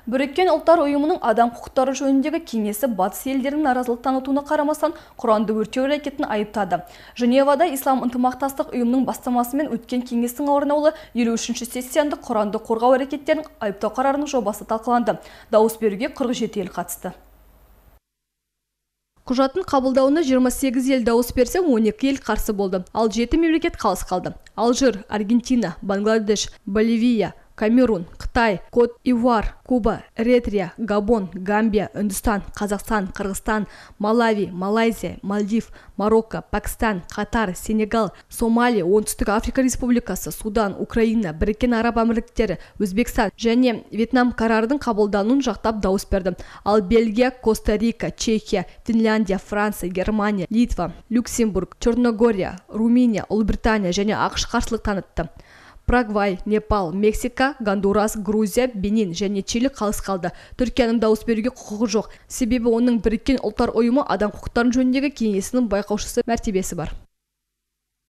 Біріккен ұлттар ұйымының адам құқықтары жөніндегі кеңесі батыс елдерінің наразылық танытуына қарамастан Құранды өртеу әрекетін айыптады. Женевада Ислам ынтымақтастық ұйымының бастамасымен өткен кеңестің орнауы 53-ші сессиясында Құранды қорғау әрекеттерін айыптау қарарының жобасы талқыланды. Дауыс беруге 47 ел қатысты. Құжаттың қабылдауына 28 ел дауыс берсе, 12 ел қарсы болды. Ал 7 мемлекет қалыс қалды. Алжир, Аргентина, Бангладеш, Боливия, Камерун, Қытай, Кот-Ивуар, Куба, Эритрия, Габон, Гамбия, Үндістан, Қазақстан, Қырғызстан, Малави, Малайзия, Мальдив, Марокко, Пакистан, Катар, Сенегал, Сомали, Оңтүстік Африка Республикасы, Судан, Украина, Біріккен Араб Әмірліктері, Өзбекстан және Вьетнам қарардың қабылдануын жақтап дауыс берді. Ал Бельгия, Коста-Рика, Чехия, Финляндия, Франция, Германия, Литва, Люксембург, Черногория, Румыния, Ұлыбритания және ақш қарсылық танытты. Парагвай, Непал, Мексика, Гондурас, Грузия, Бенин және Чили қалыс қалды. Түркияның дауыс беруге құқығы жоқ. Себебі оның Біріккен ұлттар ұйымы адам құқықтарын жөніндегі кеңесінің байқаушысы мәртебесі бар.